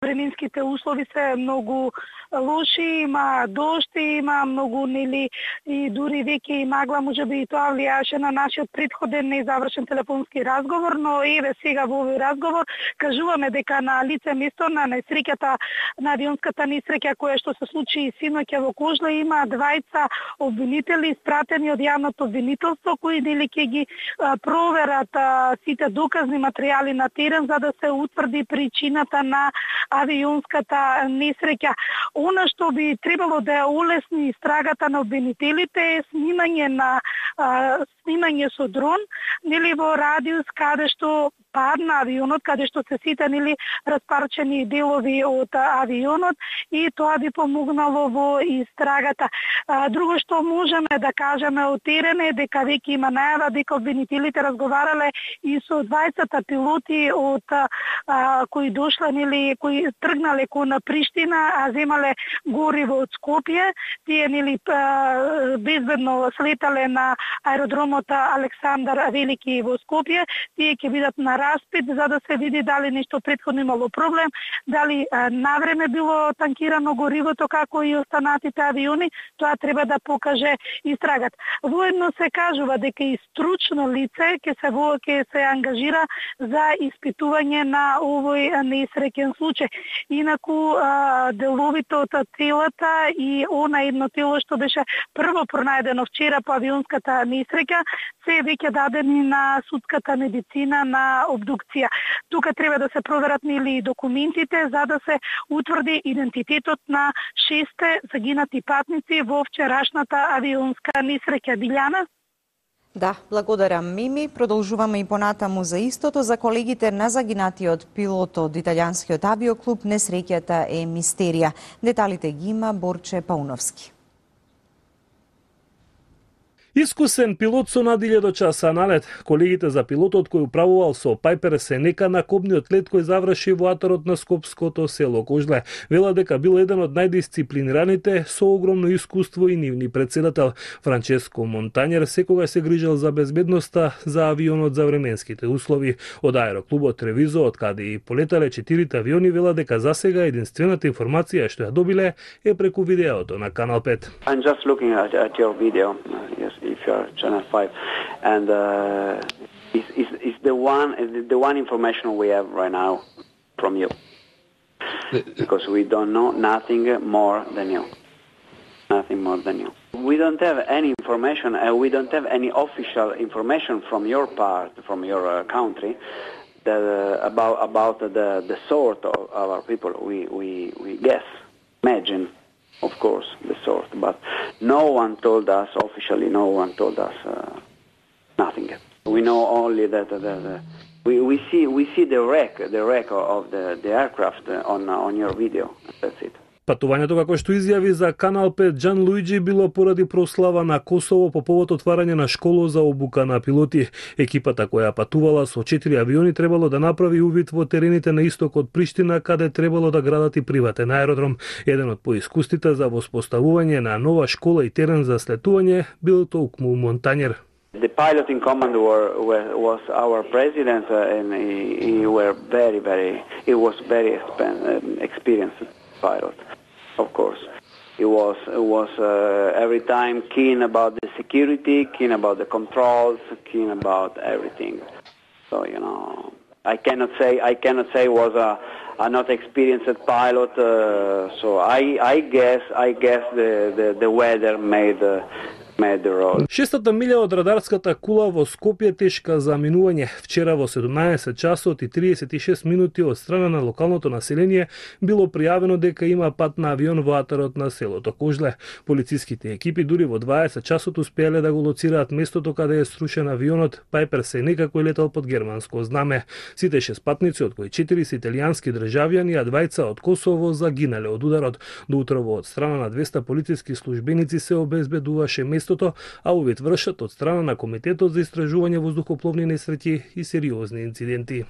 Временските услови се многу лоши, има дожд, има многу и дури веќе и магла, можеби и тоа влијаше на нашиот претходен незавршен телефонски разговор, но еве сега во овој разговор кажуваме дека на лице место на несреќата, на авионската несреќа која што се случи синоќа во Кожле, има двајца обвинители испратени од јавното обвинителство кои ќе ги проверат сите доказни материјали на терен за да се утврди причината на авионската несреќа. Она што би требало да ја улесни истрагата на обвинителите е снимање со дрон, во радиус каде што падна авионот, каде што се сите распарчени делови од авионот и тоа би помогнало во истрагата. Друго што можеме да кажеме од терен е дека веќе има најава дека обвинителите разговарале и со двајцата пилоти од кои дошле, кои тргнале кон Приштина, а земале гориво од Скопје. Тие безбедно слетале на аеродромот Александар Велики во Скопје. Тие ќе бидат на распит за да се види дали нешто претходно имало проблем, дали навреме било танкирано горивото како и останатите авиони, тоа треба да покаже истрагата. Воедно се кажува дека и стручно лице ќе се ангажира за испитување на овој несреќен случај. Инаку деловите од телата и она едно тело што беше прво пронајдено вчера по авионската несреќа се веќе дадени на судската медицина на обдукција. Тука треба да се проверат документите за да се утврди идентитетот на 6 загинати патници во вчерашната авионска несреќа. Билјана? Да, благодарам, Мими. Продолжуваме и понатаму за истото. За колегите на загинатиот пилот од италијанскиот авиоклуб, несреќата е мистерија. Деталите ги има Борче Пауновски. Искусен пилот со над 1000 часа налет. Колегите за пилотот кој управувал со Пайпер Сенека на кобниот лет кој заврши во атарот на скопското село Кожле. Вела дека бил еден од најдисциплинираните со огромно искуство и нивни председател. Франческо Монтањер секогаш се грижал за безбедноста за авионот за временските услови. Од аероклубот Тревизо, од каде и полетале 4 авиони, вела дека засега единствената информација што ја добиле е преку видеото на Канал 5. I'm just looking at your video. Yes. If you are Channel 5, and it's the one information we have right now from you, because we don't know nothing more than you. We don't have any information, and we don't have any official information from your part, from your country, that about the sort of our people. We guess, imagine. Of course, the sort, but no one told us officially. No one told us nothing. We know only that we see the wreck of the aircraft on your video. That's it. Патувањето, како што изјави за Канал 5 Джан Луиджи, било поради прослава на Косово по повод отварање на школа за обука на пилоти. Екипата која патувала со 4 авиони требало да направи увид во терените на исток од Приштина, каде требало да градат и приватен аеродром. Еден од поискустите за воспоставување на нова школа и терен за слетување бил толкму Монтањер. The pilot in command was our president, and he was very experienced pilot. Of course, he was every time keen about the security, keen about the controls, keen about everything. So I cannot say was a not experienced pilot. So I guess the weather made the road. Шестата милја од радарската кула во Скопје тешка за минување. Вчера во 17 часот и 36 минути од страна на локалното население било пријавено дека има пат на авион во атарот на селото Кожле. Полициските екипи дури во 20 часот успеале да го лоцираат местото каде е срушен авионот Пайпер Сенека кој летал под германско знаме. Сите 6 патници, од кои 4 се италијански државјани, а 2 од Косово, загинале од ударот. До утрово од страна на 200 полициски службеници се обезбедуваше местото, а увид вршат од страна на Комитетот за истражување воздухопловни несреќи и сериозни инциденти.